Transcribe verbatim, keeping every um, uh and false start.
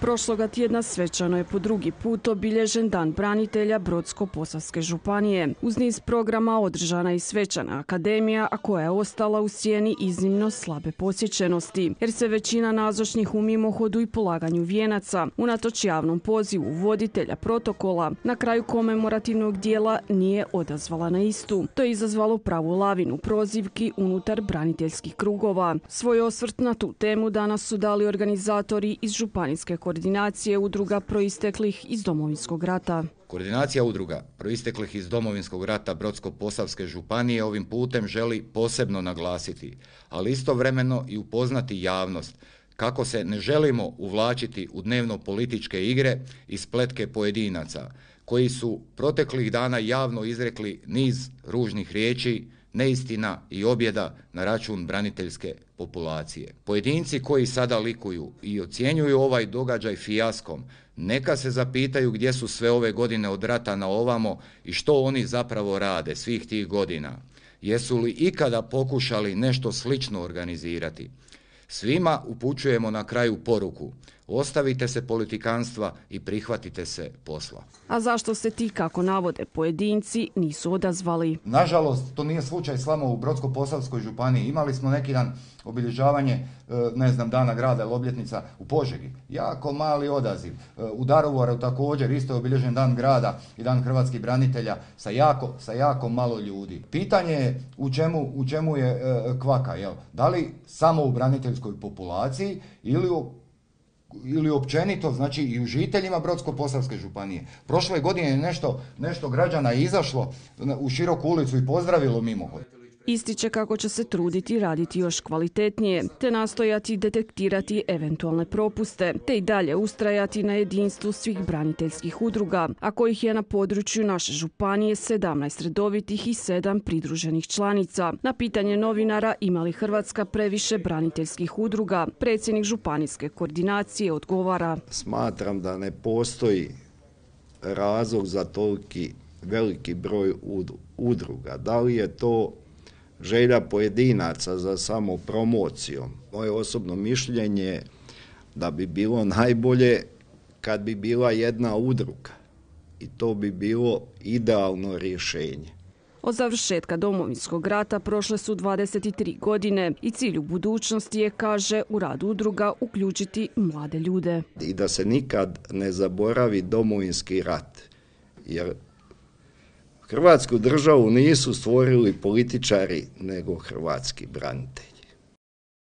Prošloga tjedna svečano je po drugi put obilježen Dan branitelja Brodsko-posavske županije. Uz niz programa održana je i svečana akademija, a koja je ostala u sjeni iznimno slabe posjećenosti, jer se većina nazočnih u mimohodu i polaganju vijenaca, unatoč javnom pozivu voditelja protokola, na kraju komemorativnog dijela nije odazvala na istu. To je izazvalo pravu lavinu prozivki unutar braniteljskih krugova. Svoj osvrt na tu temu danas su dali organizatori iz županijske koordinacije udruga proisteklih iz Domovinskog rata. Koordinacija udruga proisteklih iz Domovinskog rata Brodsko-posavske županije ovim putem želi posebno naglasiti, ali istovremeno i upoznati javnost kako se ne želimo uvlačiti u dnevno političke igre i spletke pojedinaca koji su proteklih dana javno izrekli niz ružnih riječi, neistina i objeda na račun braniteljske populacije. Pojedinci koji sada likuju i ocjenjuju ovaj događaj fijaskom, neka se zapitaju gdje su sve ove godine od rata na ovamo i što oni zapravo rade svih tih godina. Jesu li ikada pokušali nešto slično organizirati? Svima upućujemo na kraju poruku: ostavite se politikanstva i prihvatite se posla. A zašto se ti, kako navode pojedinci, nisu odazvali? Nažalost, to nije slučaj samo u Brodsko-posavskoj županiji. Imali smo neki dan obilježavanje, ne znam, Dana grada ili obljetnica u Požegi. Jako mali odaziv. U Daruvaru također isto je obilježen Dan grada i Dan hrvatskih branitelja sa jako, sa jako malo ljudi. Pitanje je u čemu, u čemu je kvaka, jel? Da li samo u braniteljskoj populaciji ili u ili općenito, znači i u žiteljima Brodsko-posavske županije. Prošle godine je nešto, nešto građana izašlo u široku ulicu i pozdravilo mimohod. Ističe kako će se truditi raditi još kvalitetnije, te nastojati detektirati eventualne propuste, te i dalje ustrajati na jedinstvu svih braniteljskih udruga, a kojih je na području naše županije sedamnaest redovitih i sedam pridruženih članica. Na pitanje novinara ima li Hrvatska previše braniteljskih udruga, predsjednik županijske koordinacije odgovara: smatram da ne postoji razlog za toliki veliki broj udruga. Da li je to želja pojedinaca za samo promocijom? Moje osobno mišljenje da bi bilo najbolje kad bi bila jedna udruga i to bi bilo idealno rješenje. Od završetka Domovinskog rata prošle su dvadeset tri godine i cilj u budućnosti je, kaže, u rad udruga uključiti mlade ljude. I da se nikad ne zaboravi Domovinski rat, jer Hrvatsku državu nisu stvorili političari, nego hrvatski branitelji.